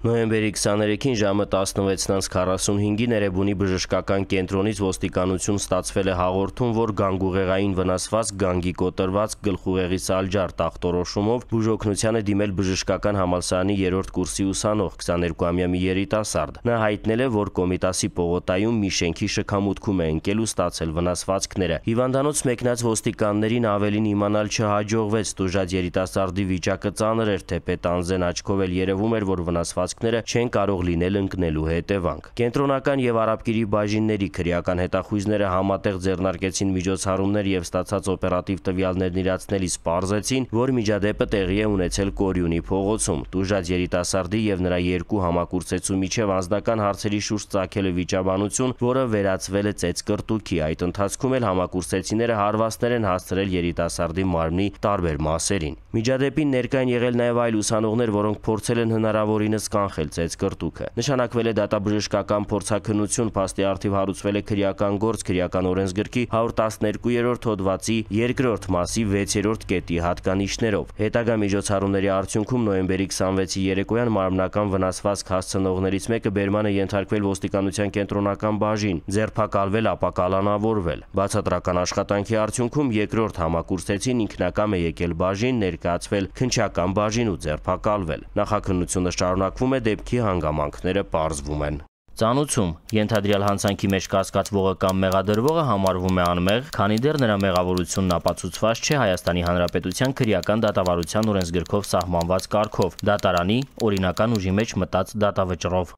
Նոյեմբերի 23-ին ժամը 16:45-ին Էրեբունի բժշկական կենտրոնից ոստիկանություն ստացվել է հաղորդում, որ գանգուղեղային վնասված, գանգի կոտրված, գլխուղեղի սալջար տախտորոշումով բուժօգնության է դիմել բժշկական համալսարանի 3-րդ կուրսի ուսանող 22-ամյա մի երիտասարդ։ Նա հայտնել է, որ Կոմիտասի պողոտայում մի շենքի շքամուտքում է ընկել ու ստացել վնասվածքները։ Հիվանդանոց մեկնած ոստիկաններին ավելին իմանալ չհաջողվեց, տուժած երիտասարդի վիճակը ծանր էր, թեպետ անզեն աչքով էլ երևում էր, որ վնասվածքները չեն կարող լինել ընկնելու հետևանք։ Կենտրոնական եւ Արաբկիրի բաժինների քրեական հետախույզները համատեղ ձեռնարկեցին միջոցառումներ եւ ստացած օպերատիվ տվյալներն իրացնելիս պարզեցին, որ միջադեպը տեղի է ունեցել Կորյունի փողոցում։ Տուժած երիտասարդի եւ նրա երկու համակուրծեցու միջև անձնական հարցերի շուրջ ծագել է վիճաբանություն, որը վերածվել է ծեծկռտուքի։ Այդ ընթացքում էլ համակուրծեցիները հարվածներ են հասցրել երիտասարդի մարմնի տարբեր մասերին։ Միջադեպին ներկա են եղել նաեւ այլ ուսանողներ, որոնք փորձել են հնարավորինս կանխել ծեծկռտուքը։ Նշանակվել է դատաբժշկական փորձաքննություն, փաստի առթիվ հարուցվել է քրեական գործ քրեական օրենսգրքի 112-րդ հոդվածի 2-րդ մասի 6-րդ կետի հատկանիշներով։ Հետագա միջոցառումների արդյունքում նոյեմբերի 26-ի երեկոյան մարմնական վնասվածք հասցնողներից մեկը բերման է ենթարկվել ոստիկանության կենտրոնական բաժին, ձերբակալվել, ապա կալանավորվել։ Բացատրական աշխատանքի արդյունքում երկրորդ համակուրծեցին ինքնակամ է եկել բաժին, ներկայացվել քննչական բաժին ու ձերբակալվել։ Նախաքննությունը շարունակվում է, դեպքի հանգամանքները պարզվում են։ Ծանուցում ենթադրյալ հանցանքի մեջ կասկածվողը կամ մեղադրվողը համարվում է անմեղ, քանի դեռ նրա մեղավորությունն ապացուցված չէ Հայաստանի Հանրապետության քրեական դատավարության օրենսգրքով սահմանված կարգով, դատարանի օրինական ուժի մեջ մտած դատավճռով։